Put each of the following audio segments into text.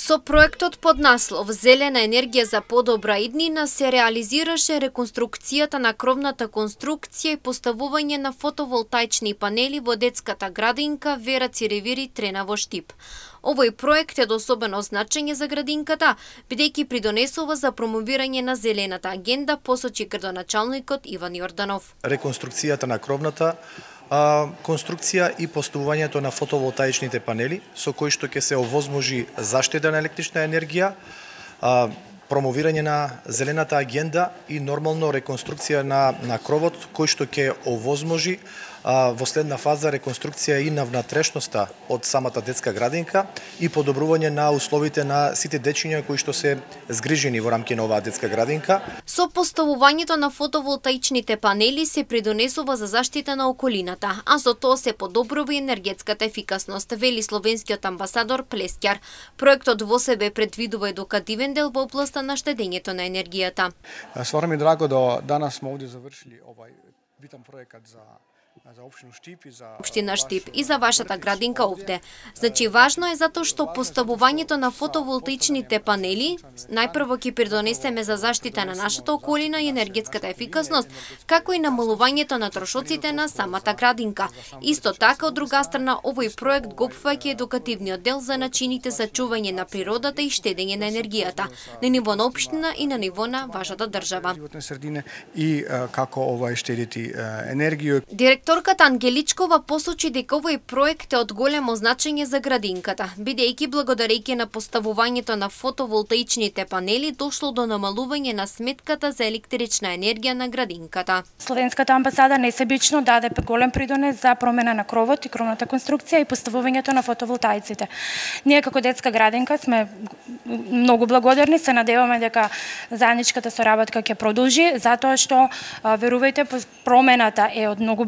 Со проектот под наслов Зелена енергија за подобра иднина се реализираше реконструкцијата на кровната конструкција и поставување на фотоволтаични панели во детската градинка Вера Циревири Трена во Штип. Овој проект е од особено значење за градинката, бидејќи придонесува за промовирање на зелената агенда, посочи градоначалникот Иван Јорданов. Реконструкцијата на кровната конструкција и поставувањето на фотоволтаичните панели, со кои што ќе се овозможи заштеда на електрична енергија, промовирање на зелената агенда и нормално реконструкција на кровот, кој што ќе овозможи во следна фаза реконструкција и на внатрешноста од самата детска градинка и подобрување на условите на сите дечиња кои што се згрижени во рамки на оваа детска градинка. Со поставувањето на фотоволтаичните панели се придонесува за заштита на околината, а со тоа се подобрува енергетската ефикасност, вели словенскиот амбасадор Плескјар. Проектот во себе предвидува едукативен дел во областа на штедењето на енергијата. Стварно ми драго да данас сме овде завршили овај битен проект за Општина Штип и за вашата градинка овде. Значи, важно е затоа што поставувањето на фотоволтаичните панели најпрво ќе придонесеме за заштита на нашата околина и енергетската ефикасност, како и намалувањето на трошоците на самата градинка. Исто така, од друга страна, овој проект го опфаќа едукативниот дел за начините за чување на природата и штедење на енергијата на ниво на општина и на ниво на вашата држава. И како штедити енергија. Директорката Ангеличкова посочи дека овој проект е од големо значење за градинката, бидејќи благодарејќи на поставувањето на фотоволтаичните панели дошло до намалување на сметката за електрична енергија на градинката. Словенската амбасада несебично даде голем придонес за промена на кровот и кровната конструкција и поставувањето на фотоволтаиците. Ние како детска градинка сме многу благодарни, се надеваме дека заедничката соработка ќе продолжи, затоа што верувајте, промената е од многу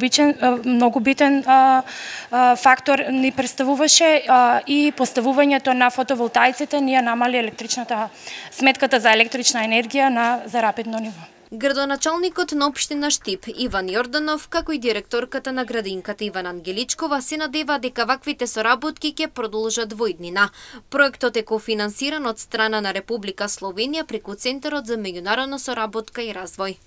битен фактор ни представуваше и поставувањето на фотоволтаиците ние намали сметката за електрична енергија на зарапидно ниво. Градоначалникот на општина Штип Иван Јорданов, како и директорката на градинката Ивана Ангеличкова се надева дека ваквите соработки ќе продолжат во иднина. Проектот е кофинансиран од страна на Република Словенија преку Центарот за меѓународна соработка и развој.